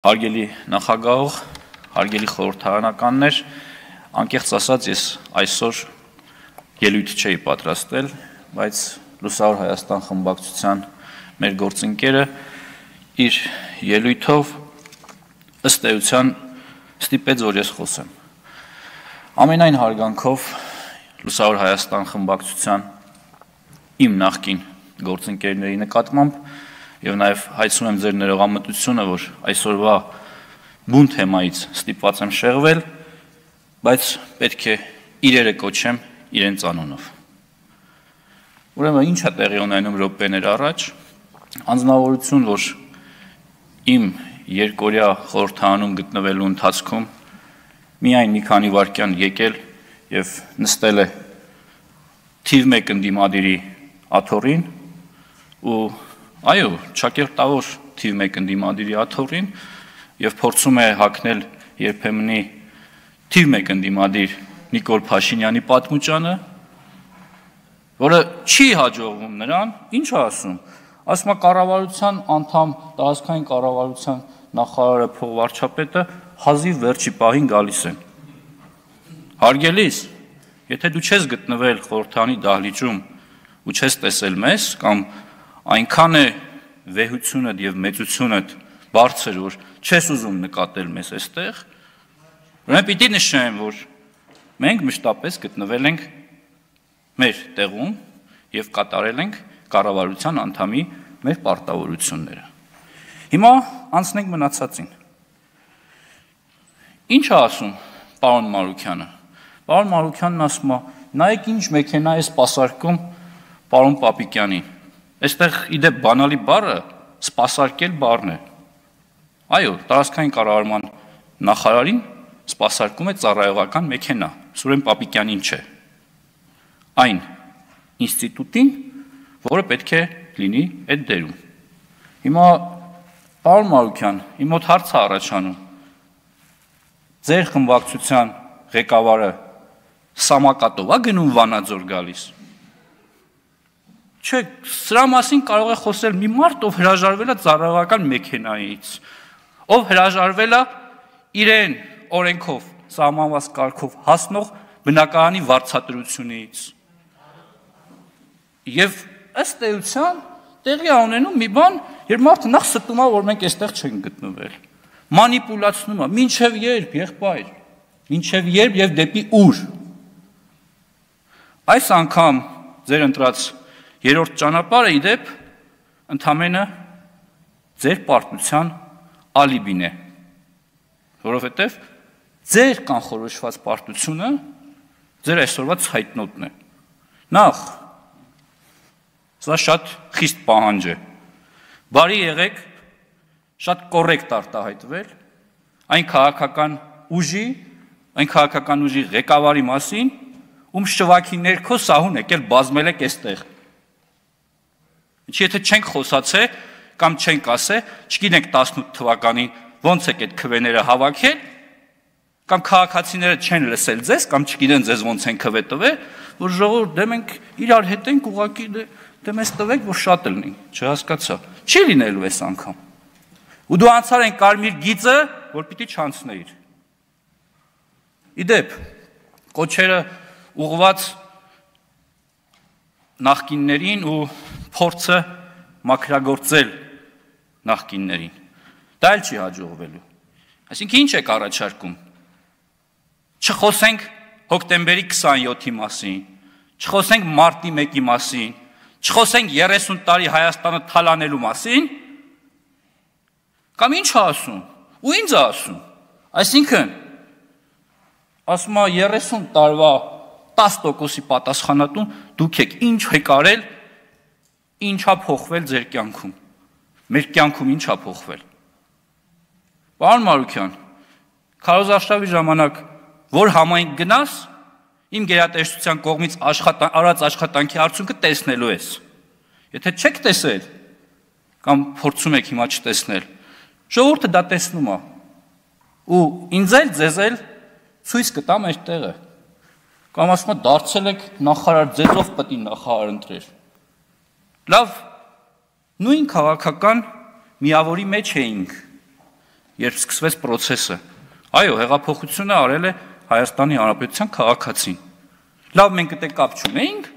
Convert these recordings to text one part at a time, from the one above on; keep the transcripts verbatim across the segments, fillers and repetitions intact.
Հարգելի նախագահող, հարգելի խորհրդարանականներ, անկեղծ ասած ես այսօր ելույթ չէի պատրաստել, բայց Լուսավոր Հայաստան խմբակցության մեր գործընկերը իր ելույթով ըստ էության ստիպեց, որ ես խոսեմ։ Ամենայն հարգանքով Լուսավոր Հայաստան խմբակցության իմ նախկին գործընկերների նկատմամբ և նաև հայցում եմ ձեր ներողամտությունը, որ այսօրվա բուն թեմայից ստիպված եմ շեղվել, բայց պետք է իրերը կոչեմ իրենց անունով։ Ուրեմն ինչ է տեղի ունենում րոպեներ առաջ, անձնավորություն, որ իմ երկօրյա խորհրդարանում գտնվելու ընթացքում միայն մի քանի վայրկյան եկել և նստել է թիվ մեկ ընդդիմադիրի աթոռին ու այո, ճակերտավոր թիվ մեկ ընդդիմադիրի աթոռին և փորձում է հագնել երբեմնի թիվ մեկ ընդդիմադիր Նիկոլ Փաշինյանի պատմուճանը, որը չի հաջողվում նրան, ինչ ասում, ասում է կառավարության անդամ, տարածքային կառավարության նախարարը, փոխվարչապետը հազիվ վերջի պահին գալիս են։ Հարգելիս, եթե դու չես գտնվել խորհրդարանի դահլիճում ու չես տեսել մեզ, կամ այնքան է վեհությունդ և մեծությունդ բարձր, որ չես ուզում նկատել մեզ այստեղ, ուրեմն պիտի նշեմ, որ մենք մշտապես գտնվել ենք մեր տեղում և կատարել ենք կառավարության անդամի մեր պարտավորությունները։ Հիմա անցնենք մնացածին։ Ինչ է ասում պարոն Մանուկյանը։ Պարոն Մանուկյանն ասում է, նայեք ինչ մեքենա է սպասարկում պարոն Պապիկյանին։ Այստեղ իդեպ բանալի բառը սպասարկել բառն է։ Այո, տարածքային կառավարման նախարարին սպասարկում է ծառայողական մեքենա, Սուրեն Պապիկյանին չէ։ Այն ինստիտուտին, որը պետք է լինի այդ դերում։ Հիմա պարոն Մանուկյան, իմ մոտ հարց է առաջանում։ Ձեր խմբակցության ղեկավարը սամակատով է գնում Վանաձոր գալիս։ Չէ, սրա մասին կարող է խոսել մի մարդ, ով հրաժարվել է ծառայողական մեքենայից, ով հրաժարվել է իրեն օրենքով, սահմանված կարգով հասնող բնակարանի վարձատրությունից։ Եվ ըստ էության տեղի է ունենում մի բան, երբ մարդը նախ ստում է, որ մենք այստեղ չենք գտնվել։ Մանիպուլացնում է, մինչև երբ, եղբայր, մինչև երբ և դեպի ուր։ Այս անգամ ձեր ընտրած երրորդ ճանապարհը իդեպ ընդամենը ձեր պարտության ալիբին է, որովհետև ձեր կանխորոշված պարտությունը ձեր այսօրվա ցայտնոտն է։ Նախ, սա շատ խիստ պահանջ է, բարի եղեք շատ կոռեկտ արտահայտվել այն քաղաքական ուժի, այն քաղաքական ուժի ղեկավարի մասին, ում շվաքի ներքո սահուն եկել բազմել եք այստեղ։ Եթե չենք խոսացե, կամ չենք ասե, չգիտենք տասնութ թվականին ոնց եք այդ քվեները հավաքել, կամ քաղաքացիները չեն լսել ձեզ, կամ չգիտեն ձեզ ոնց են քվե տվել, որ ժողովուրդ դե մենք իրար հետ ենք ուղղակի դե մեզ տվեք, որ շատ լինի, չհասկացա։ Չի լինելու այս անգամ։ Ու դու անցար են կարմիր գիծը, որ պիտի չանցնեիր։ Իդեպ, կոչերը ուղղված նախկիններին ու փորձը մաքրագործել նախկիններին։ Դա էլ չի հաջողվելու։ Այսինքն ինչ եք առաջարկում։ Չխոսենք հոկտեմբերի քսանյոթի մասին, չխոսենք մարտի մեկի մասին, չխոսենք երեսուն տարի Հայաստանը թալանելու մասին, կամ ինչ է ասում, ու ինչ է ասում։ Այսինքն, ասում է երեսուն տարվա տասը տոկոսի պատասխանատուն դուք եք, ինչ եք արել, ինչ է փոխվել ձեր կյանքում, մեր կյանքում ինչ է փոխվել։ Պարոն Մանուկյան, քարոզարշավի ժամանակ որ համայնք գնաս, իմ գերատեսչության կողմից արած աշխատանքի արդյունքը տեսնելու ես։ Եթե չեք տեսել, կամ փորձում եք հիմա չտեսնել, ժողովուրդը դա տեսնում է, ու ինձ էլ ձեզ էլ ցույց կտամ այդ տեղը։ Կամ ասում է դարձել եք նախարար, ձեզով պետք է նախարար ընտրեր։ Լավ, նույն քաղաքական միավորի մեջ էինք երբ սկսվեց process-ը։ Այո, հեղափոխությունը արել է Հայաստանի Հանրապետության քաղաքացին։ Լավ, մենք դե կապ չունեինք։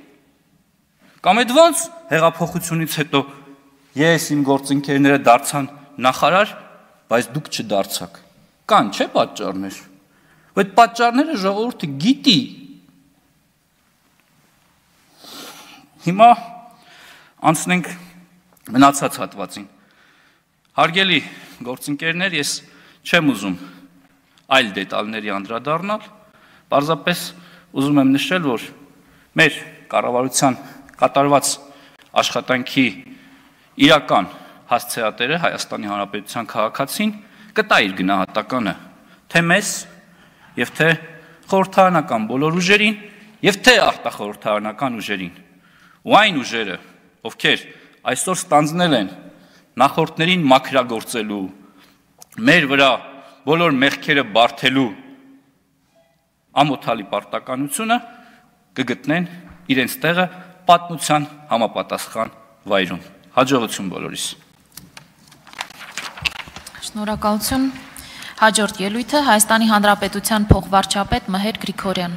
Կամ այդ ոնց հեղափոխությունից հետո ես իմ գործընկերները դարձան նախարար, բայց դուք չդարձաք։ Կան, չէ՞ պատճառներ։ Այդ պատճառները ժողովուրդը գիտի։ Հիմա անցնենք մնացած հատվածին։ Հարգելի գործընկերներ, ես չեմ ուզում այլ դետալների անդրադառնալ, պարզապես ուզում եմ նշել, որ մեր կառավարության կատարված աշխատանքի իրական հասցեատերը Հայաստանի Հանրապետության քաղաքացին կտա իր գնահատականը թե մեզ եւ թե խորհրդարանական բոլոր ուժերին եւ թե արտախորհրդարանական ուժերին։ Ու այն ուժերը, ովքեր այսօր ստանձնել են նախորդներին մաքրագործելու, մեր վրա բոլոր մեղքերը բարթելու ամոթալի պարտականությունը կգտնեն իրենց տեղը պատմության համապատասխան վայրում։ Հաջողություն բոլորիս։ Շնորհակալություն։ Հաջորդ ելույթը Հայաստանի Հանրապետության փոխվարչապետ Մհեր Գրիգորյան։